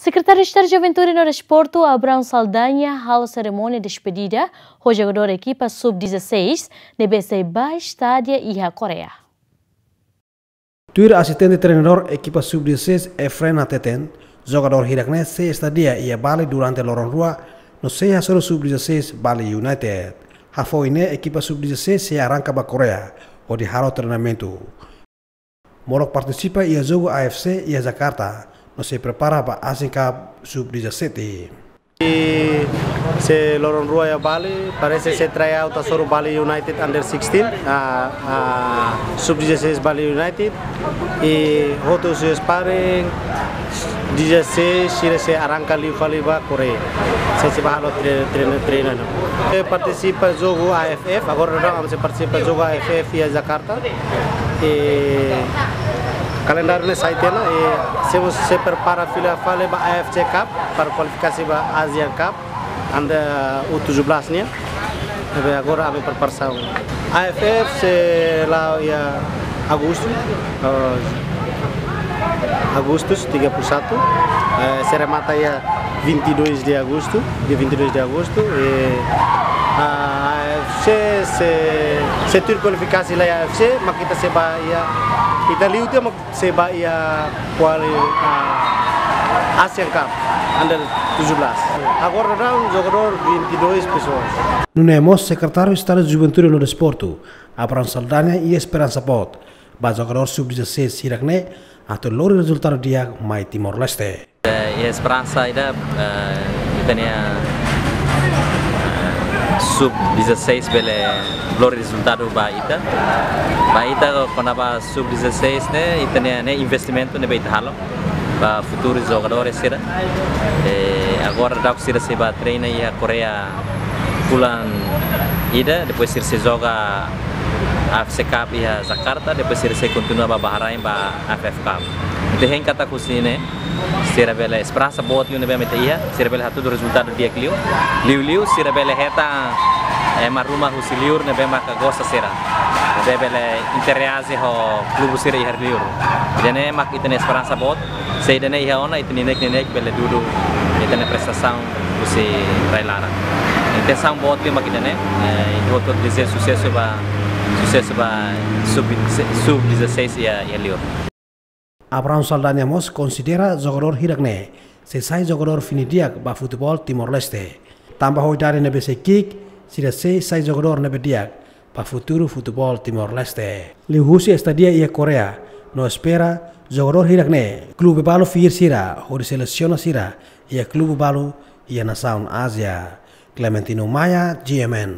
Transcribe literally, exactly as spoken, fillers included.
Sekretáriu Estadu Juventude no Desportu, Abrão Saldanha, halo serimónia despedida ho jogadór ekipa sub dezasseis ne'ebé sei bá estádia iha Koreia. Tuir asistente treinadór ekipa sub dezasseis, Efren hateten, jogadór hirak-ne'e sei estádia iha Bali durante loron rua, no sei hasoru sub dezasseis Bali United. Hafoin ne'e ekipa sub dezasseis sei arranka ba Koreia, hodi halo treinamentu. Molok partisipa iha jogu A F C iha Jakarta, no sei prepara ba Asian Cup sub dezasseis. I se loron rua iha Bali, parese se tryout hasoru Bali United under sixteen, ah, ah, sub dezasseis Bali United, i hotu husi sparring, dezasseis, sira sei arranka liu fali ba Koreia. Sei, sei bá halo tre-, treina, treina, no. Sei partisipa jogu A F F, agora daudaun ami sei partisipa jogu A F F iha Jakarta. I kalendáriu ne'e sai tiha ona, i sei, sei prepara fila fali ba A F C Cup, para kualifikasi ba Asian Cup, under U tujuh belas nian. Ne'ebé agora ami preparasaun. A F F sei la'o iha Agostu, eh, Agostu tiga puluh satu, eh, sei remata iha vinte e dois de agosto, dia vinte e dois de agosto, e, ah, sei, sei, sei tuir kualifikasi lai A F C, mak ita sei bá iha, ita liu tiha mak sei bá iha kuali, ah, Asian Cup under tujuh belas. Agora daudaun jogadór vinte e dois pessoas. Nune'e mós Sekretáriu Estadu Juventude no Desportu, Abrão Saldanha, iha esperansa boot ba jogadór sub dezasseis hirak-ne'e atu lori rezultadu di'ak mai Timor-Leste. Eh, iha esperansa ida, eh, ita-nia, eh, sub dezasseis bele lori rezultadu ba ita. Ba ita, kona-ba sub dezasseis ne'e, ita-nia, ne'e investimentu ne'ebé ita halo ba futuru jogadór sira. Eh, agora daudaun sira sei bá treina iha Koreia fulan ida, depois sira sei joga A F C Cup iha Jakarta, depois sira sei kontinua ba Bahrain ba A F F Cup. Ita hein katak husi ne'e, sira bele esperansa boot liu ne'ebé mak ita iha, sira bele hatudu rezultadu di'ak liu. Liuliu, sira bele hetan, eh, ema ruma husi liur ne'ebé maka gosta sira. Ne'ebé bele interaji ho klube sira iha liur. Ida-ne'e mak ita-nia esperansa boot. Se ida-ne'e iha ona, ita-nia neineik-neineik bele dudu ita-nia prestasaun husi rai-laran. Intensaun boot liu mak ida-ne'e, eh, ita hotu dezeja susesu ba, susesu ba sub, sub dezasseis iha, iha liur. Abrão Saldanha mós konsidera jogadór hirak-ne'e sei sai jogadór fini di'ak ba futeból Timor-Leste. Tanba ho idade ne'ebé sei ki'ik, sira sei sai jogadór ne'ebé di'ak ba futuru futeból Timor-Leste. Liuhusi estádia iha Koreia, no espera jogadór hirak-ne'e klube balu fiar sira hodi selesiona sira iha klube balu iha nasaun Ázia. Clementino Maia, G M N.